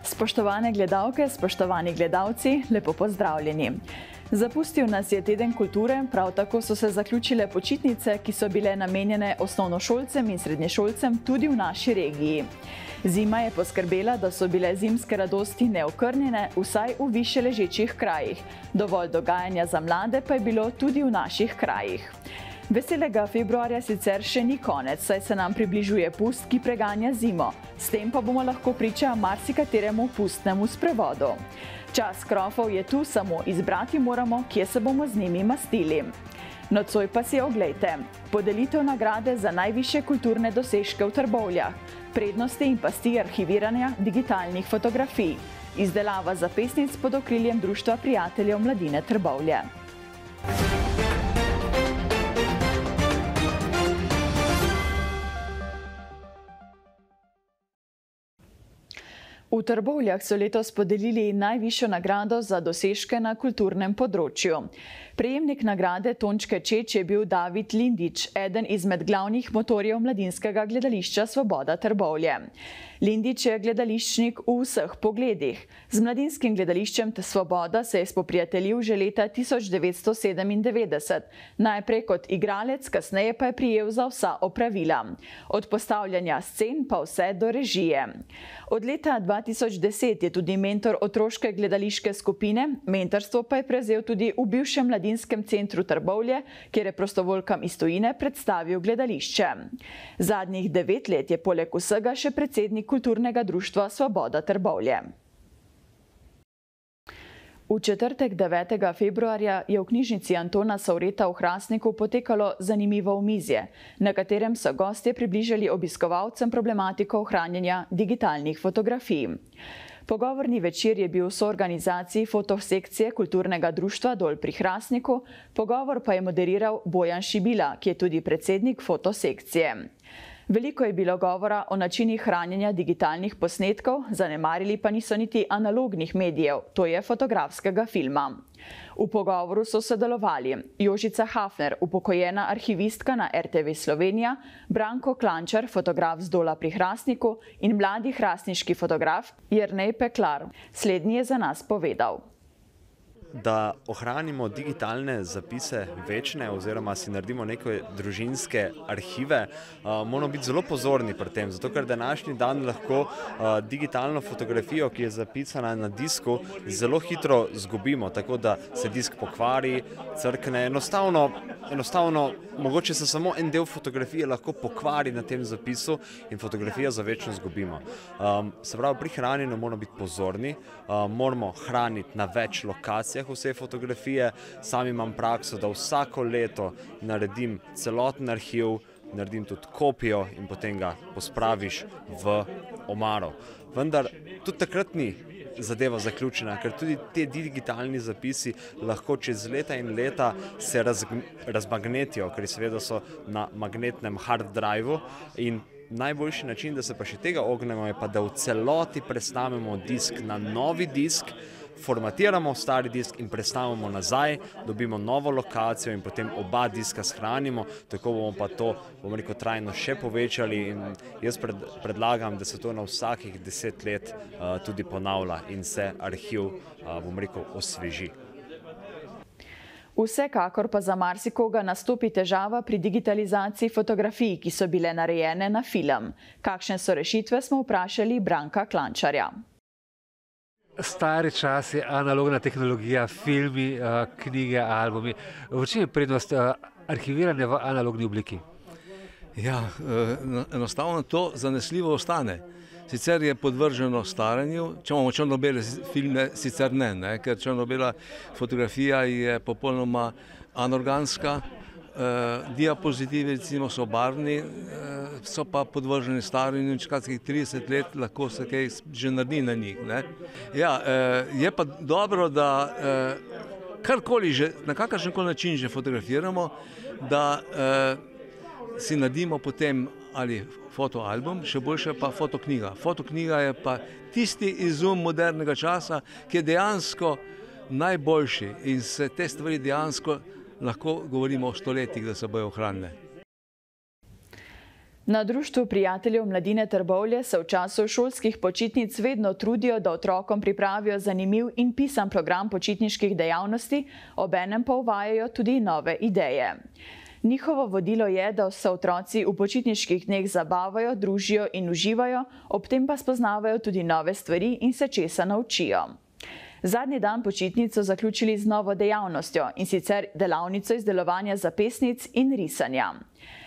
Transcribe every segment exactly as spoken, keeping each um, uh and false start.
Spoštovane gledalke, spoštovani gledalci, lepo pozdravljeni. Zapustil nas je teden kulture, prav tako so se zaključile počitnice, ki so bile namenjene osnovnošolcem in srednješolcem tudi v naši regiji. Zima je poskrbela, da so bile zimske radosti neokrnjene, vsaj v više ležečih krajih. Dovolj dogajanja za mlade pa je bilo tudi v naših krajih. Veselega februarja sicer še ni konec, saj se nam približuje pust, ki preganja zimo. S tem pa bomo lahko priča marsikateremu pustnemu sprevodu. Čas krofov je tu, samo izbrati moramo, kje se bomo z njimi mastili. Nocoj pa si oglejte. Podelitev nagrade za najvišje kulturne dosežke v Trbovljah, prednosti in pasti arhiviranja digitalnih fotografij, izdelava zapestnic pod okriljem Društva prijateljev mladine Trbovlje. V Trbovljah so letos podelili najvišjo nagrado za dosežke na kulturnem področju. Prejemnik nagrade Tončke Čeč je bil David Lindič, eden izmed glavnih motorjev mladinskega gledališča Svoboda Trbovlje. Lindič je gledališčnik v vseh pogledih. Z mladinskim gledališčem Svoboda se je spoprijateljil že leta tisoč devetsto sedemindevetdeset. Najprej kot igralec, kasneje pa je prijel za vsa opravila. Od postavljanja scen pa vse do režije. Od leta dva tisoč deset je tudi mentor otroške gledališke skupine, mentorstvo pa je prevzel tudi v bivšem mladinskem centru Trbovlje, kjer je prostovoljkam iz tujine predstavil gledališče. Zadnjih devet let je poleg vsega še predsednik kulturnega društva Svoboda Trbovlje. V četrtek devetega februarja je v knjižnici Antona Savreta v Hrastniku potekalo zanimivo omizje, na katerem so gostje približali obiskovalcem problematiko ohranjanja digitalnih fotografij. Pogovorni večer je bil v soorganizaciji fotosekcije kulturnega društva Dol pri Hrastniku, pogovor pa je moderiral Bojan Šibila, ki je tudi predsednik fotosekcije. Veliko je bilo govora o načinih hranjenja digitalnih posnetkov, zanemarili pa niso niti analognih medijev, to je fotografskega filma. V pogovoru so sodelovali Jožica Hafner, upokojena arhivistka na R T V Slovenija, Branko Klančar, fotograf z Dola pri Hrastniku in mladi hrastniški fotograf Jernej Peklar. Slednji je za nas povedal. Da ohranimo digitalne zapise večne oziroma si naredimo neke družinske arhive, moramo biti zelo pozorni pri tem, zato ker današnji dan lahko digitalno fotografijo, ki je zapisana na disku, zelo hitro zgubimo, tako da se disk pokvari, crkne, enostavno, enostavno mogoče se samo en del fotografije lahko pokvari na tem zapisu in fotografijo za večno zgubimo. Se pravi, pri hranjenju moramo biti pozorni, moramo hraniti na več lokacijah vse fotografije. Sam imam prakso, da vsako leto naredim celoten arhiv, naredim tudi kopijo in potem ga pospraviš v omaro. Vendar tudi takrat ni zadeva zaključena, ker tudi te digitalni zapisi lahko čez leta in leta se razmagnetijo, ker seveda so na magnetnem hard driveu in najboljši način, da se pa še tega ognemo, je pa, da v celoti prestavimo disk na novi disk, formatiramo stari disk in prestavimo nazaj, dobimo novo lokacijo in potem oba diska shranimo, tako bomo pa to, bomo rekel, trajno še povečali in jaz predlagam, da se to na vsakih deset let tudi ponavlja in se arhiv, bomo rekel, osveži. Vsekakor pa za marsikoga nastopi težava pri digitalizaciji fotografij, ki so bile narejene na film. Kakšne so rešitve, smo vprašali Branka Klančarja. Stari čas je analogna tehnologija, filmi, knjige, albumi. V čem je prednost arhiviranja v analogni obliki? Ja, enostavno to zanesljivo ostane. Sicer je podvrženo staranju, če imamo črno-bele filme, sicer ne, ne, ker črno-bela fotografija je popolnoma anorganska, diapozitivi recimo so barvni, so pa podvrženi staranju in čakatskih trideset let lahko se kaj že naredi na njih. Ja, je pa dobro, da karkoli že, na kakršenkoli način že fotografiramo, da si naredimo potem ali fotoalbum, še boljše pa fotoknjiga. Fotoknjiga je pa tisti izum modernega časa, ki je dejansko najboljši in se te stvari dejansko lahko govorimo o stoletjih, da se bojo ohranile. Na Društvu prijateljev mladine Trbovlje se v času šolskih počitnic vedno trudijo, da otrokom pripravijo zanimiv in pisan program počitniških dejavnosti, obenem pa uvajajo tudi nove ideje. Njihovo vodilo je, da se otroci v počitniških dneh zabavajo, družijo in uživajo, ob tem pa spoznavajo tudi nove stvari in se česa naučijo. Zadnji dan počitnic so zaključili z novo dejavnostjo, in sicer delavnico izdelovanja zapestnic in risanja.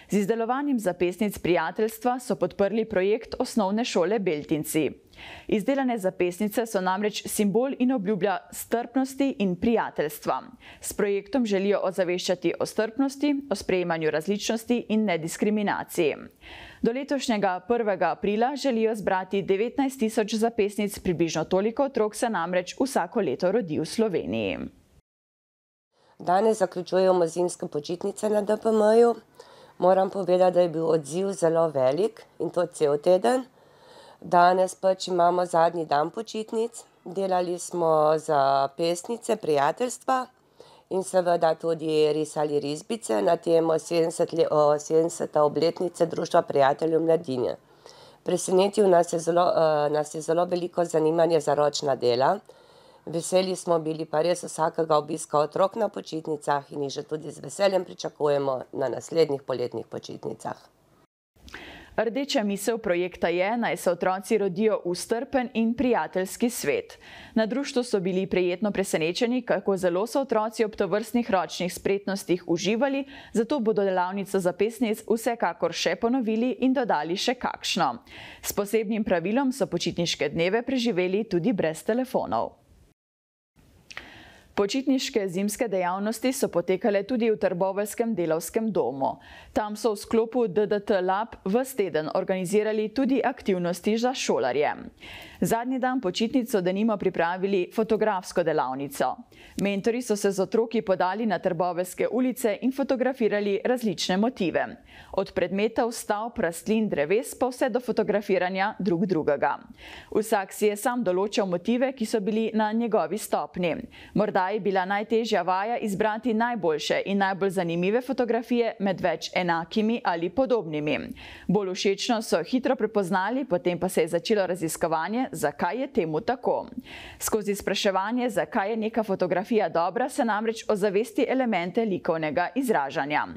Z izdelovanjem zapestnic prijateljstva so podprli projekt Osnovne šole Beltinci. Izdelane zapestnice so namreč simbol in obljublja strpnosti in prijateljstva. S projektom želijo ozaveščati o strpnosti, o sprejemanju različnosti in nediskriminaciji. Do letošnjega prvega aprila želijo zbrati devetnajst tisoč zapestnic, približno toliko otrok se namreč vsako leto rodi v Sloveniji. Danes zaključujemo zimske počitnice na D P M-ju. Moram povedati, da je bil odziv zelo velik in to cel teden. Danes pač imamo zadnji dan počitnic. Delali smo za pesnice prijateljstva in seveda tudi risali risbice na temo sedemdesete obletnice Društva prijateljev mladine. Presenetil nas je zelo, nas je zelo veliko zanimanje za ročna dela. Veseli smo bili pa res vsakega obiska otrok na počitnicah in jih že tudi z veseljem pričakujemo na naslednjih poletnih počitnicah. Rdeča misel projekta je, naj se otroci rodijo v strpen in prijateljski svet. Na društvu so bili prijetno presenečeni, kako zelo so otroci ob tovrstnih ročnih spretnostih uživali, zato bodo delavnico zapestnic vsekakor še ponovili in dodali še kakšno. S posebnim pravilom so počitniške dneve preživeli tudi brez telefonov. Počitniške zimske dejavnosti so potekale tudi v Trboveljskem delavskem domu. Tam so v sklopu D D T Lab ves teden organizirali tudi aktivnosti za šolarje. Zadnji dan počitnic so denimo pripravili fotografsko delavnico. Mentori so se z otroki podali na trboveljske ulice in fotografirali različne motive. Od predmetov, stavb, rastlin, dreves pa vse do fotografiranja drug drugega. Vsak si je sam določal motive, ki so bili na njegovi stopni. Morda je bila najtežja vaja izbrati najboljše in najbolj zanimive fotografije med več enakimi ali podobnimi. Bolj všečno so hitro prepoznali, potem pa se je začelo raziskovanje, zakaj je temu tako. Skozi spraševanje, zakaj je neka fotografija dobra, se namreč ozavesti elemente likovnega izražanja.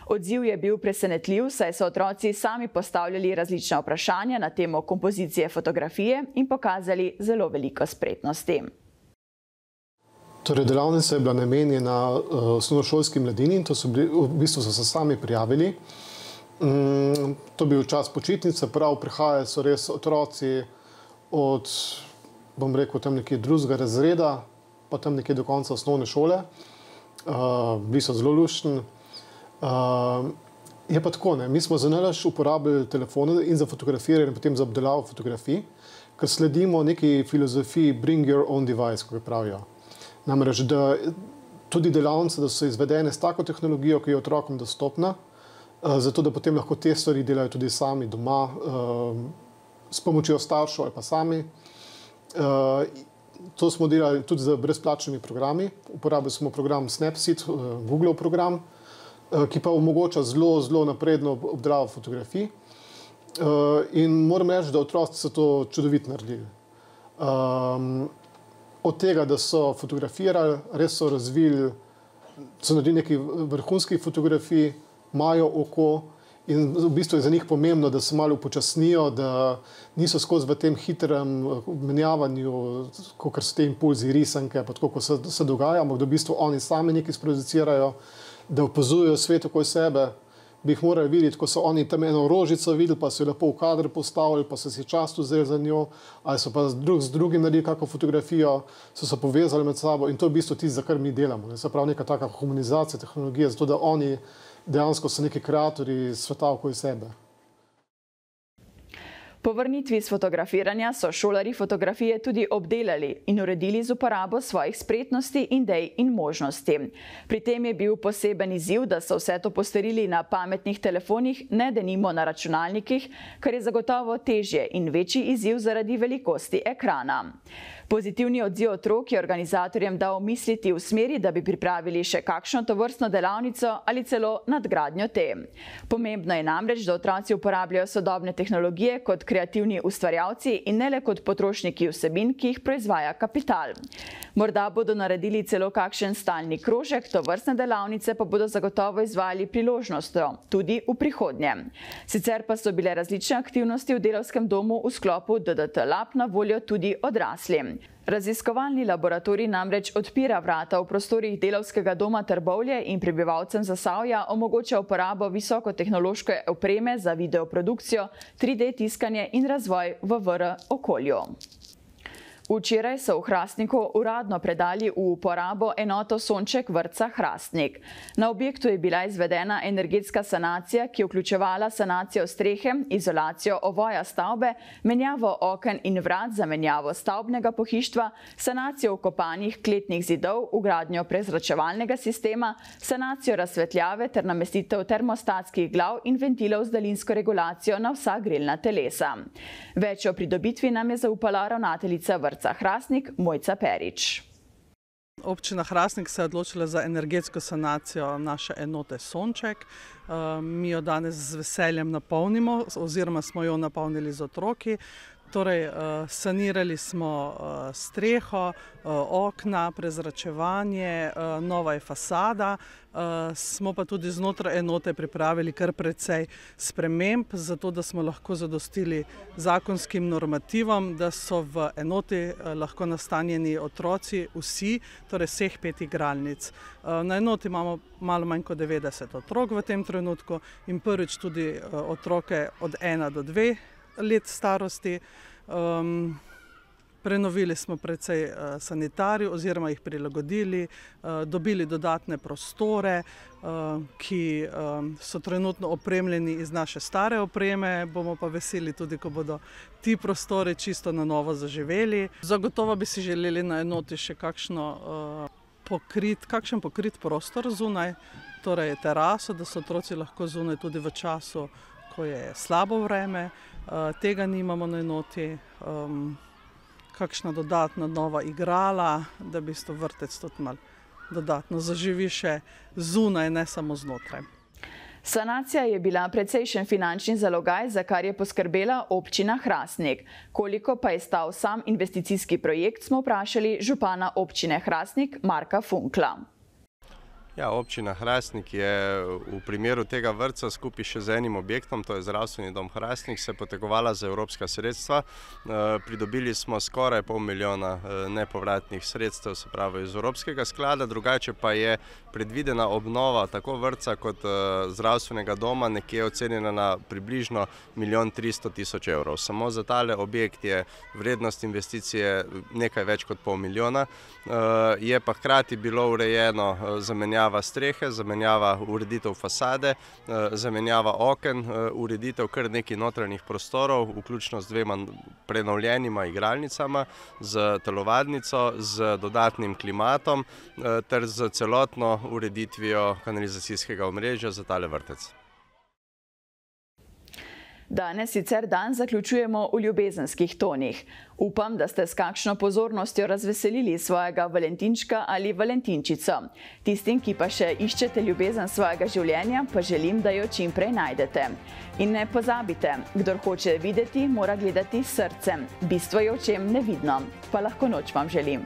Odziv je bil presenetljiv, saj so otroci sami postavljali različna vprašanja na temo kompozicije fotografije in pokazali zelo veliko spretnosti. Torej, delavnica je bila namenjena osnovnošolski mladini in to so bili, v bistvu so se sami prijavili. To je bil čas počitnice, prav prihajajo so res otroci od, bom rekel, tam nekje drugega razreda, pa tam nekje do konca osnovne šole. Bili so zelo luštni. Je pa tako, ne, mi smo za nalaž uporabljali telefone in za fotografiranje in potem za obdelavo fotografij, ker sledimo neki filozofiji bring your own device, kako pravijo. Namreč, da tudi delavnice, da so izvedene s tako tehnologijo, ki je otrokom dostopna, zato da potem lahko te stvari delajo tudi sami doma, s pomočjo staršev ali pa sami. To smo delali tudi z brezplačnimi programi. Uporabili smo program Snapseed, Google program, ki pa omogoča zelo, zelo napredno obdelavo fotografij. In moram reči, da otroci so to čudovito naredili. Od tega, da so fotografirali, res so razvili, so naredili nekaj vrhunskih fotografij, imajo oko in v bistvu je za njih pomembno, da se malo upočasnijo, da niso skozi v tem hitrem menjavanju, kakor so te impulzi, risanke, pa tako, ko se, se dogaja, ampak da v bistvu oni sami nekaj sproducirajo, da opazujejo svet okoli sebe, bi jih morali videti, ko so oni tam eno rožico videli, pa so jo lepo v kadr postavili, pa so si čas vzeli za njo, ali so pa drug z drugim naredili kakšno fotografijo, so se povezali med sabo in to je v bistvu tisto, za kar mi delamo. Ne? Se pravi neka taka humanizacija tehnologije, zato da oni dejansko so neki kreatorji sveta okoli sebe. Po vrnitvi s fotografiranja so šolarji fotografije tudi obdelali in uredili z uporabo svojih spretnosti, idej in možnosti. Pri tem je bil poseben izziv, da so vse to postorili na pametnih telefonih, ne denimo na računalnikih, kar je zagotovo težje in večji izziv zaradi velikosti ekrana. Pozitivni odziv otrok je organizatorjem dal misliti v smeri, da bi pripravili še kakšno tovrstno delavnico ali celo nadgradnjo te. Pomembno je namreč, da otroci uporabljajo sodobne tehnologije kot kreativni ustvarjalci in ne le kot potrošniki vsebin, ki jih proizvaja kapital. Morda bodo naredili celo kakšen stalni krožek, tovrstne delavnice pa bodo zagotovo izvajali priložnostjo, tudi v prihodnje. Sicer pa so bile različne aktivnosti v Delavskem domu v sklopu D D T Lab na voljo tudi odraslim. Raziskovalni laboratorij namreč odpira vrata v prostorih Delavskega doma Trbovlje in prebivalcem Zasavja omogoča uporabo visokotehnološke opreme za videoprodukcijo, tri D tiskanje in razvoj v V R okolju. Včeraj so v Hrastniku uradno predali v uporabo enoto Sonček vrtca Hrastnik. Na objektu je bila izvedena energetska sanacija, ki je vključevala sanacijo strehe, izolacijo ovoja stavbe, menjavo oken in vrat za menjavo stavbnega pohištva, sanacijo vkopanih kletnih zidov, vgradnjo prezračevalnega sistema, sanacijo razsvetljave ter namestitev termostatskih glav in ventilov z daljinsko regulacijo na vsa grelna telesa. Več o pridobitvi nam je zaupala ravnateljica vrtca Hrastnik Mojca Perič. Občina Hrastnik se je odločila za energetsko sanacijo naše enote Sonček. Mi jo danes z veseljem napolnimo oziroma smo jo napolnili z otroki. Torej, sanirali smo streho, okna, prezračevanje, nova je fasada. Smo pa tudi znotraj enote pripravili kar precej sprememb, zato da smo lahko zadostili zakonskim normativom, da so v enoti lahko nastanjeni otroci vsi, torej vseh pet igralnic. Na enoti imamo malo manj kot devetdeset otrok v tem trenutku in prvič tudi otroke od ena do dve let starosti. Um, prenovili smo precej uh, sanitarij oziroma jih prilagodili, uh, dobili dodatne prostore, uh, ki um, so trenutno opremljeni iz naše stare opreme, bomo pa veseli tudi, ko bodo ti prostori čisto na novo zaživeli. Zagotovo bi si želeli na enoti še kakšno, uh, pokrit, kakšen pokrit prostor zunaj, torej teraso, da so otroci lahko zunaj tudi v času, ko je slabo vreme. Uh, tega nimamo na enoti, um, kakšna dodatna nova igrala, da bi sto vrtec tudi malo dodatno zaživi še zunaj, ne samo znotraj. Sanacija je bila precejšen finančni zalogaj, za kar je poskrbela občina Hrastnik. Koliko pa je stal sam investicijski projekt, smo vprašali župana občine Hrastnik Marka Funkla. Ja, občina Hrastnik je v primeru tega vrtca skupaj še z enim objektom, to je Zdravstveni dom Hrastnik, se potegovala za evropska sredstva. Pridobili smo skoraj pol milijona nepovratnih sredstev, se pravi iz Evropskega sklada, drugače pa je predvidena obnova tako vrtca kot zdravstvenega doma nekje ocenjena na približno milijon tristo tisoč evrov. Samo za tale objekt je vrednost investicije nekaj več kot pol milijona. Je pa hkrati bilo urejeno zamenjava strehe, zamenjava ureditev fasade, zamenjava oken, ureditev kar nekaj notranjih prostorov, vključno z dvema prenovljenima igralnicama, z telovadnico, z dodatnim klimatom ter z celotno ureditvijo kanalizacijskega omrežja za tale vrtec. Danes sicer dan zaključujemo v ljubezenskih tonih. Upam, da ste s kakšno pozornostjo razveselili svojega valentinčka ali valentinčico. Tistim, ki pa še iščete ljubezen svojega življenja, pa želim, da jo čim prej najdete. In ne pozabite, kdor hoče videti, mora gledati s srcem. Bistvo je v čem nevidno. Pa lahko noč vam želim.